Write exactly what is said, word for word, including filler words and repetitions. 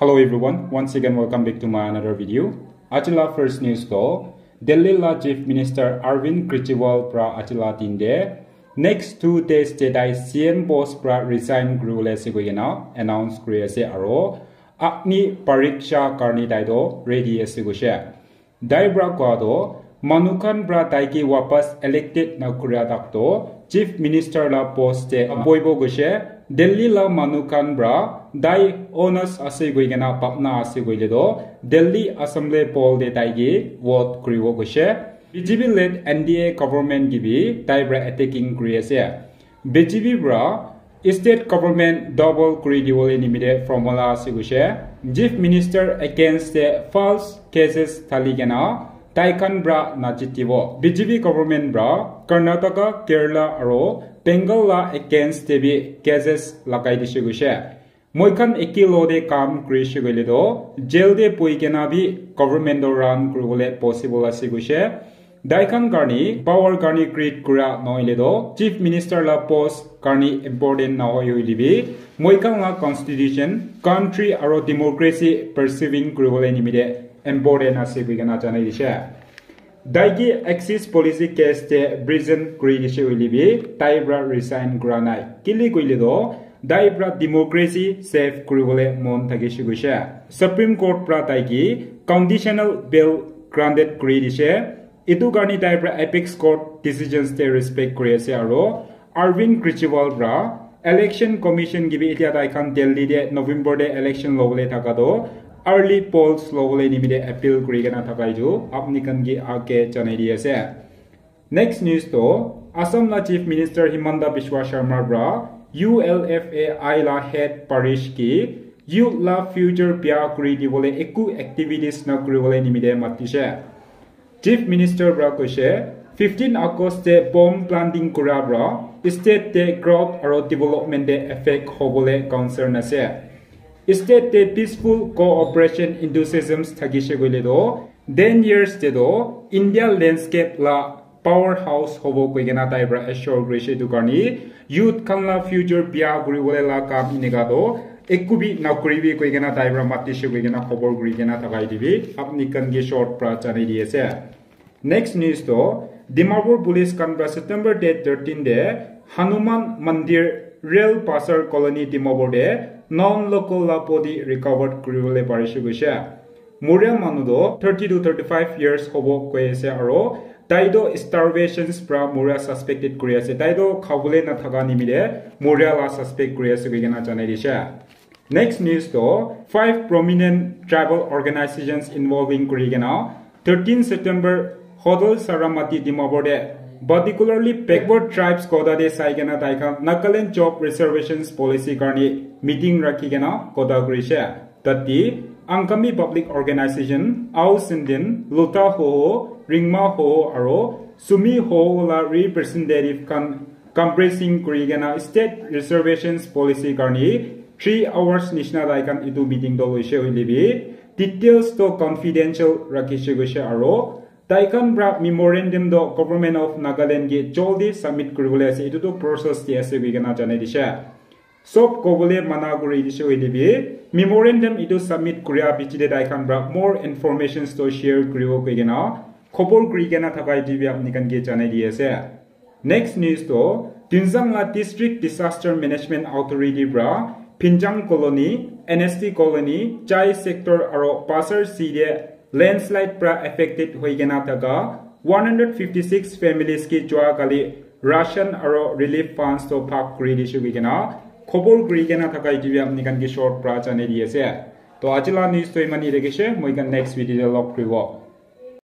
Hello everyone, once again welcome back to my another video. Ajila first news to Delhi la Chief Minister Arvind Kejriwal pra ajila din de next two days te tai C M post pra resign kuribole ase koikena announce kuri ase aro Agni Pariksha karni tai to ready ase koishe. Tai pra koa to manu khan pra tai ke wapas elected na kuria tak to Chief Minister la post te boibo goishe. Delhi la manu khan pra tai honest ase koikena bhabna ase koile to Delhi Assembly poll te tai ke vote kuribo goishe. B J P led N D A government ke bi tai pra attacking kuri ase. B J P pra state government double kuri dibole nimite formula ase koishe. Chief Minister against the false cases thali kena tai khan pra na jitibo. B J P government pra Karnataka, Kerala aro Bengal la against te bi cases lagai dishe koishe. Moi khan eke lo de kam kurishe koile to jail de poi kena bi government to run kuribole possible ase koishe. Tai khan karni power karni create kura nohoile to Chief Minister la post karni important nohoi hoile bi moi khan la constitution, country aro democracy preserving kuribole nimite important ase koikena janai dishe. Tai ke Axis policy case te present kuri dishe hoile bi tai pra resign kura nai. Kile koile to tai pra democracy save kuribole mon thakishe koishe. Supreme Court pra tai ke conditional bail granted kuri dishe. Etu karni tai pra apex court decisions te respect kuri ase aro Arvind Kejriwal pra election commission ke bi etia tai khan Delhi te November te election lobole thaka to early polls lobole nimite appeal kuri kena thaka etu apni khan ke age janai di ase. Next news to Assam la Chief Minister Himanta Biswa Sharma pra U L F A I la head parish ke youth la future bia kuri dibole eku activities na kuribole nimite matishe. Chief Minister pra koishe fifteen August te bomb planting kura pra state te growth aro development te effect hobole concern ase. State te peaceful cooperation enthusiasms thakishe koile to ten years te to India landscape la powerhouse hobo koikena tai pra assure kurishe. Etu karni youth khan la future bia kuribole la kam eneka to eku bi nakuribi koikena tai pra matishe koikena khobor kurikena thakai dibi apni khan ke short pra janai di ase. Next news to Dimapur police khan pra September date thirteen de Hanuman Mandir Rail Pasar Colony Dimapur de non local la body recovered kuribole parishe koishe. Moria manu to thirty to thirty-five years hobo koi ase aro tai to starvations pra moria suspected kuri ase. Tai to khabole na thaka nimite moria la suspect kuri ase koikena janai dishe. Next news to five prominent tribal organizations involving kuri kena thirteen September Hodol Saramati Dimapur de particularly backward tribes kota de sai kena tai khan Nagaland job reservations policy karni meeting rakhi kena kota kurishe. Tati Angami Public Organization, Au Sindin, Luta Hoho, Ringma Hoho aro Sumi Hoho la representative khan compressing kuri kena state reservations policy karni three hours nishina tai khan etu meeting to loishe hoile bi details to confidential rakhishe koishe aro tai khan pra memorandum to Government of Nagaland ke jaldi submit kuribole ase. Etu to process te ase koikena janai dishe. Sob kobole mana kuri dishe hoile bi memorandum etu submit kuria piche te tai khan pra more informations to share kuribo koikena khobor kurikena thaka etu bi apni khan ke janai di ase. Next news to Tuensang la District Disaster Management Authority pra Phinjang Colony, N S T Colony, Chai Sector aro Pasar C de landslide pra affected hoi kena thaka one hundred fifty-six families ke jua kali ration aro relief funds to bhag kuri dishe koi kena khobor kuri kena thaka etu bi apni khan ke short pra janai di ase. To aji la news to imani rakhishe, moi khan next video te log kuribo.